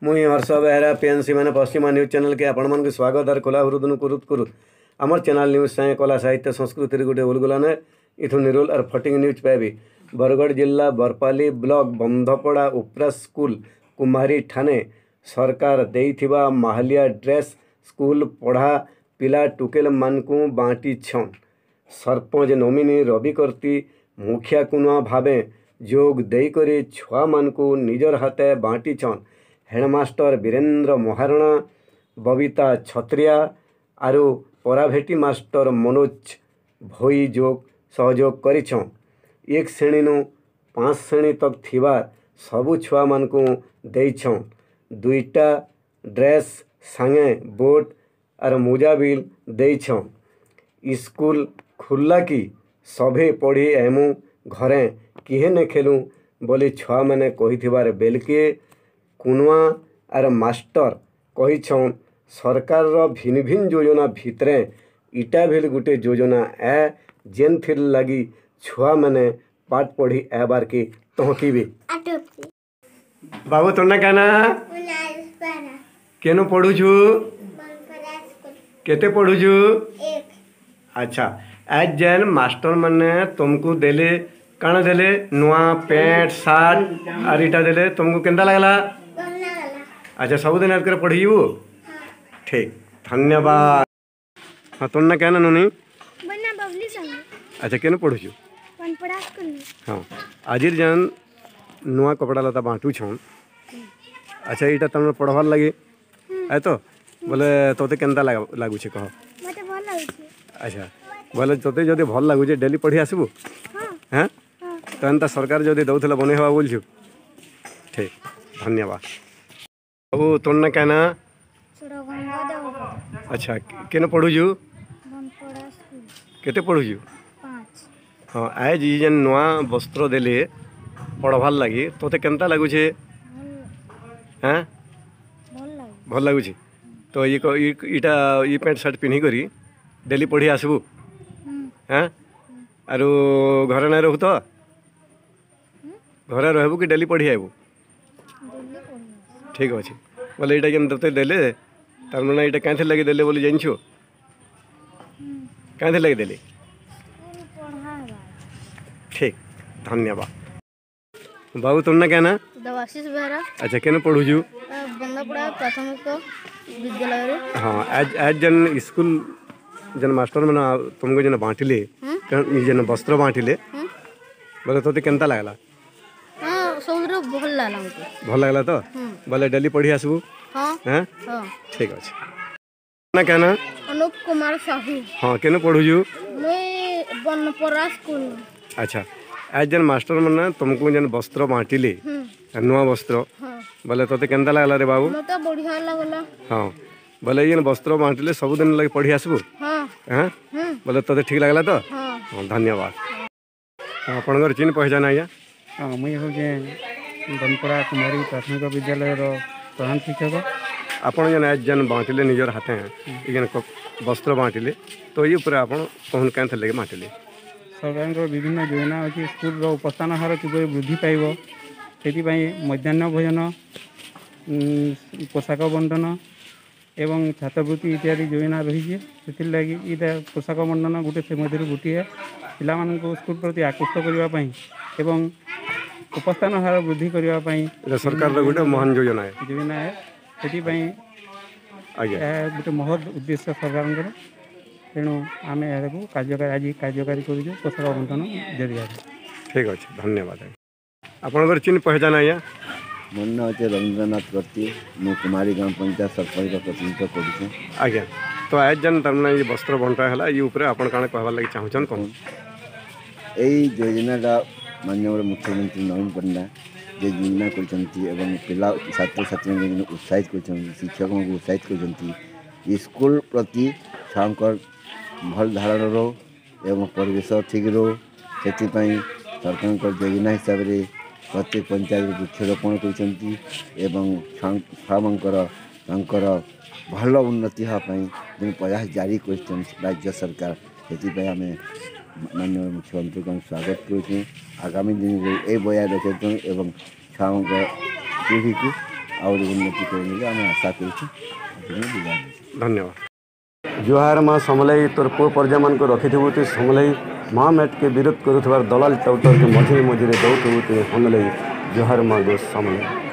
ମୁଇଁ ହର୍ଷ ବେହେରା, ପିଏନ୍ସି ମାନେ ପଶ୍ଚିମା ନ୍ୟୁଜ୍ ଚ୍ୟାନେଲ୍କେ ଆପଣମାନଙ୍କୁ ସ୍ୱାଗତ ଆର୍ ଖୋଲା ହୃଦନୁ କୁରୁତ୍ କୁରୁତ୍। ଆମର୍ ଚ୍ୟାନେଲ୍ ନ୍ୟୁଜ୍ ସାଙ୍ଗେ କଲା, ସାହିତ୍ୟ, ସଂସ୍କୃତିରେ ଗୋଟେ ଉଲଗୁଲାନେ ଇଥୁ ନିରୋଲ ଆର୍ ଫଟିଂ ନ୍ୟୁଜ୍ ପାଇବି। ବରଗଡ଼ ଜିଲ୍ଲା ବରପାଲି ବ୍ଲକ୍ ବନ୍ଧପଡ଼ା ଉପ୍ରା ସ୍କୁଲ କୁମାରୀ ଠାନେ ସରକାର ଦେଇଥିବା ମାହାଲିଆ ଡ୍ରେସ୍ ସ୍କୁଲ ପଢ଼ା ପିଲା ଟୁକେଲମାନଙ୍କୁ ବାଣ୍ଟିଛନ୍। ସରପଞ୍ଚ ନୋମିନି ରବି କର୍ତ୍ତି ମୁଖିଆ କୁନୁଆ ଭାବେ ଯୋଗ ଦେଇକରି ଛୁଆମାନଙ୍କୁ ନିଜର ହାତେ ବାଣ୍ଟିଛନ୍। ହେଡ଼ମାଷ୍ଟର ବୀରେନ୍ଦ୍ର ମହାରଣା, ବବିତା ଛତ୍ରିଆ ଆରୁ ପରାଭେଟି ମାଷ୍ଟର ମନୋଜ ଭୋଇ ଯୋଗ ସହଯୋଗ କରିଛନ୍। ଏକ ଶ୍ରେଣୀନୁ 5 ଶ୍ରେଣୀ ତକ୍ ଥିବା ସବୁ ଛୁଆମାନଙ୍କୁ ଦେଇଛନ୍। ଦୁଇଟା ଡ୍ରେସ୍ ସାଙ୍ଗେ ବୁଟ୍ ଆର୍ ମୋଜା ବିଲ୍ ଦେଇଛନ୍। ଇସ୍କୁଲ ଖୁଲ୍ଲା କି ସଭେ ପଢ଼ି ଆଏମୁ, ଘରେ କିହେ ନେ ଖେଲୁ ବୋଲି ଛୁଆମାନେ କହିଥିବାର୍ ବେଲ୍କେ କୁନୁଆ ଆର୍ ମାଷ୍ଟର କହିଛନ୍, ସରକାରର ଭିନ୍ ଭିନ୍ ଯୋଜନା ଭିତରେ ଇଟା ଭିଲ୍ ଗୁଟେ ଯୋଜନା ଏ, ଯେନ୍ଥିର୍ ଲାଗି ଛୁଆମାନେ ପାଠ୍ ପଢ଼ି ଆଏବାର୍କେ ତହକିବେ। ବାବୁ, ତୋର ନା କାଣା? କେନୁ ପଢ଼ୁଛୁ? କେତେ ପଢ଼ୁଛୁ? ଆଚ୍ଛା, ଆଜ୍ ଯେନ୍ ମାଷ୍ଟର ମାନେ ତୁମକୁ ଦେଲେ, କାଣା ଦେଲେ? ନୂଆ ପ୍ୟାଣ୍ଟ ସାର୍ଟ ଆର୍ ଇଟା ଦେଲେ, ତୁମକୁ କେନ୍ତା ଲାଗଲା? ଆଚ୍ଛା, ସବୁଦିନ ଏତ୍କରେ ପଢ଼ିଯିବୁ? ଠିକ୍, ଧନ୍ୟବାଦ। ହଁ, ତୋର ନା କାଣା ନୁନି? ଆଚ୍ଛା, କେନୁ ପଢ଼ୁଛୁ? ହଁ, ଆଜିର ଯେନ୍ ନୂଆ କପଡ଼ା ଲତା ବାଣ୍ଟୁଛନ୍, ଆଚ୍ଛା, ଏଇଟା ତମର ପଢ଼ବାର୍ ଲାଗି ଏ ତ ବୋଲେ ତୋତେ କେନ୍ତା ଲାଗୁଛେ କହ? ଆଚ୍ଛା, ବୋଲେ ତୋତେ ଯଦି ଭଲ ଲାଗୁଛେ, ଡେଲି ପଢ଼ି ଆସିବୁ? ହେଁ, ତ ଏନ୍ତା ସରକାର ଯଦି ଦଉଥିଲେ ବନେଇ ହେବା ବୋଲଛୁ? ଠିକ୍, ଧନ୍ୟବାଦ। ବାବୁ, ତୋର ନା କାଣା? ଆଚ୍ଛା, କେନ ପଢ଼ୁଛୁ? କେତେ ପଢ଼ୁଛୁ? ହଁ, ଆଜ୍ ଇ ଯେନ୍ ନୂଆ ବସ୍ତ୍ର ଦେଲେ ପଢ଼ବାର୍ ଲାଗି, ତୋତେ କେନ୍ତା ଲାଗୁଛେ? ହେଁ, ଭଲ ଲାଗୁଛେ ତ? ଇଟା ଇ ପ୍ୟାଣ୍ଟ ସାର୍ଟ ପିନ୍ଧିକରି ଡେଲି ପଢ଼ି ଆସିବୁ? ହେଁ, ଆରୁ ଘରେ ନାଇଁ ରହୁ ତ? ଘରେ ରହିବୁ କି ଡେଲି ପଢ଼ି ଆଇବୁ? ଠିକ୍ ଅଛି। ବୋଲେ ଏଇଟା ଯେନ୍ ତୋତେ ଦେଲେ, ତାର ମାନେ ଏଇଟା କାଇଁଥିର୍ ଲାଗି ଦେଲେ ବୋଲି ଜାଣିଛୁ? କାଇଁଥିର୍ ଲାଗି ଦେଲେ? ଠିକ୍, ଧନ୍ୟବାଦ। ବାବୁ, ତୋର ନା କାଣା? ଦେବାଶିଷ ବେହେରା। ଆଚ୍ଛା, କେନ ପଢ଼ୁଛୁ? ବନ୍ଦାପଡ଼ା ପ୍ରାଥମିକ ବିଦ୍ୟାଳୟରେ। ହଁ, ଆଜ୍ ଯେନ୍ ସ୍କୁଲ ଯେନ୍ ମାଷ୍ଟର ମାନେ ତୁମକୁ ଯେନ୍ ବାଣ୍ଟିଲେ, ଯେନ୍ ବସ୍ତ୍ର ବାଣ୍ଟିଲେ, ବୋଲେ ତୋତେ କେନ୍ତା ଲାଗଲା? ହଁ, ସବୁଥିରୁ ଭଲ ଲାଗଲା ମୋତେ। ଭଲ ଲାଗଲା ତ? ବୋଲେ ଡେଲି ପଢ଼ି ଆସିବୁ? ହଁ। ହଁ, ଠିକ୍ ଅଛି। ନା କାଣା? ଅନୁପ କୁମାର ସାହୁ। ହଁ, କେନ ପଢ଼ୁଛୁ? ମୁଇଁ ବନପରା ସ୍କୁଲ। ଆଚ୍ଛା, ଆଜ୍ ଯେନ୍ ମାଷ୍ଟର ମାନେ ତୁମକୁ ଯେନ୍ ବସ୍ତ୍ର ବାଣ୍ଟିଲେ, ନୂଆ ବସ୍ତ୍ର, ବୋଲେ ତୋତେ କେନ୍ତା ଲାଗଲା ରେ ବାବୁ? ମତେ ବଢ଼ିଆ ଲାଗଲା। ହଁ, ବୋଲେ ଏଇ ଯେନ୍ ବସ୍ତ୍ର ବାଣ୍ଟିଲେ, ସବୁଦିନ ଲାଗି ପଢ଼ି ଆସିବୁ? ହଁ, ବୋଲେ ତୋତେ ଠିକ୍ ଲାଗଲା ତ? ହଁ, ଧନ୍ୟବାଦ। ଆପଣଙ୍କର ଚିନ୍ ପହଚାନ ଆଜ୍ଞା। ହଁ, ମୁଇଁ ହେଉଛେ ବନପଡ଼ା କୁମାରୀ ପ୍ରାଥମିକ ବିଦ୍ୟାଳୟର ପ୍ରଧାନ ଶିକ୍ଷକ। ଆପଣ ଯେନ୍ ଆଜ୍ ଯେନ୍ ବାଣ୍ଟିଲେ ନିଜର ହାତେ ଏଇ ଯେନ୍ ବସ୍ତ୍ର ବାଣ୍ଟିଲେ, ତ ଏଇ ଉପରେ ଆପଣ କହୁନ୍, କାଏଁଥିର୍ ଲାଗି ବାଣ୍ଟିଲେ? ସରକାରଙ୍କର ବିଭିନ୍ନ ଯୋଜନା ଅଛି। ସ୍କୁଲର ଉପସ୍ଥାନ ହାର କିପରି ବୃଦ୍ଧି ପାଇବ, ସେଥିପାଇଁ ମଧ୍ୟାହ୍ନ ଭୋଜନ, ପୋଷାକ ବଣ୍ଟନ ଏବଂ ଛାତ୍ରବୃତ୍ତି ଇତ୍ୟାଦି ଯୋଜନା ରହିଛି। ସେଥିର୍ଲାଗି ଏଇଟା ପୋଷାକ ବଣ୍ଟନ ଗୋଟେ ସେ ମଧ୍ୟରୁ ଗୋଟିଏ, ପିଲାମାନଙ୍କୁ ସ୍କୁଲ ପ୍ରତି ଆକୃଷ୍ଟ କରିବା ପାଇଁ ଏବଂ ଉପସ୍ଥାନ ହାର ବୃଦ୍ଧି କରିବା ପାଇଁ। ଏଇଟା ସରକାରର ଗୋଟେ ମହାନ ଯୋଜନା। ଯୋଜନା, ସେଥିପାଇଁ ଆଜ୍ଞା ଏହା ଗୋଟେ ମହତ୍ ଉଦ୍ଦେଶ୍ୟ ସରକାରଙ୍କର। ତେଣୁ ଆମେ ଏହାକୁ କାର୍ଯ୍ୟକାରୀ, ଆଜି କାର୍ଯ୍ୟକାରୀ କରୁଛୁ ପୋଷାକ ବଣ୍ଟନ ଜରିଆରେ। ଠିକ୍ ଅଛି, ଧନ୍ୟବାଦ। ଆପଣଙ୍କର ଚିନ୍ ପହଚାନ ଆଜ୍ଞା। ମୋର ନାଁ ହେଉଛି ରବୀନ୍ଦ୍ରନାଥ କର୍ତ୍ତି। ମୁଁ କୁମାରୀ ଗ୍ରାମ ପଞ୍ଚାୟତ ସରପଞ୍ଚର ପ୍ରତିନିଧିତ୍ୱ କରୁଛେ। ଆଜ୍ଞା, ତ ଆଜ୍ ଯେନ୍ ତାର୍ମାନେ ଇ ବସ୍ତ୍ର ବଣ୍ଟା ହେଲା, ଇ ଉପରେ ଆପଣ କାଣା କହିବାର୍ ଲାଗି ଚାହୁଁଛନ୍, କହୁନ୍। ଏଇ ଯୋଜନାଟା ମାନ୍ୟବର ମୁଖ୍ୟମନ୍ତ୍ରୀ ନବୀନ ପଟ୍ଟନାୟକ ଯେ ଯୋଜନା କରିଛନ୍ତି ଏବଂ ପିଲା ଛାତ୍ରଛାତ୍ରୀଙ୍କୁ ଉତ୍ସାହିତ କରିଛନ୍ତି, ଶିକ୍ଷକଙ୍କୁ ଉତ୍ସାହିତ କରିଛନ୍ତି, ସ୍କୁଲ ପ୍ରତି ଛୁଆଙ୍କର ଭଲ ଧାରଣା ରହୁ ଏବଂ ପରିବେଶ ଠିକ୍ ରହୁ, ସେଥିପାଇଁ ସରକାରଙ୍କ ଯୋଜନା ହିସାବରେ ପ୍ରତ୍ୟେକ ପଞ୍ଚାୟତରେ ବୃକ୍ଷରୋପଣ କରିଛନ୍ତି ଏବଂ ଛୁଆମାନଙ୍କର ତାଙ୍କର ଭଲ ଉନ୍ନତି ହେବା ପାଇଁ ଯେଉଁ ପ୍ରୟାସ ଜାରି କରିଛନ୍ତି ରାଜ୍ୟ ସରକାର, ସେଥିପାଇଁ ଆମେ ମାନ୍ୟବର ମୁଖ୍ୟମନ୍ତ୍ରୀଙ୍କୁ ଆମେ ସ୍ୱାଗତ କରୁଛୁ। ଆଗାମୀ ଦିନରେ ଏ ବଜାୟ ରଖିଛୁ ଏବଂ ଛୁଆଙ୍କ ପିଢ଼ିକୁ ଆହୁରି ଉନ୍ନତି କରିବେ ବୋଲି ଆମେ ଆଶା କରୁଛୁ। ଧନ୍ୟବାଦ। ଜୁହାର ମା ସମଲେଇ, ତୋର ପୁଅ ପରଜାମାନଙ୍କୁ ରଖିଥିବୁ ତୁଇ ସମଲେଇ। ମା ମେଟକେ ବିରୋଧ କରୁଥିବାର ଦଲାଲ ଟାଉଟରକେ ମଝିରେ ମଝିରେ ଦଉଥିବୁ ତୁଇ ହନଲେଇ। ଜୁହାର ମା ଗୋ ସମଲେଇ।